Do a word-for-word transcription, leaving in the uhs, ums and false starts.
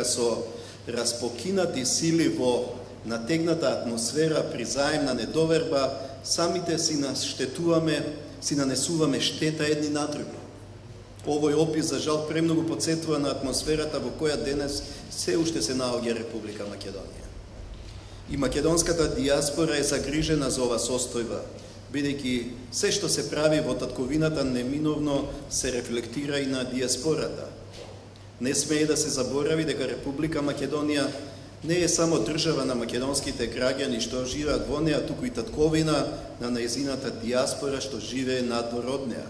Со распокинати сили во натегната атмосфера при заемна недоверба, самите си наштетуваме, си нанесуваме штета едни на други. Овој опис, за жал, премногу потсетува на атмосферата во која денес се уште се наоѓа Република Македонија. И македонската диаспора е загрижена за ова состојба, бидејќи се што се прави во татковината неминовно се рефлектира и на диаспората. Не смее да се заборави дека Република Македонија не е само држава на македонските граѓани што живеат во неа, туку и татковина на нејзината диаспора што живее надвор од неа.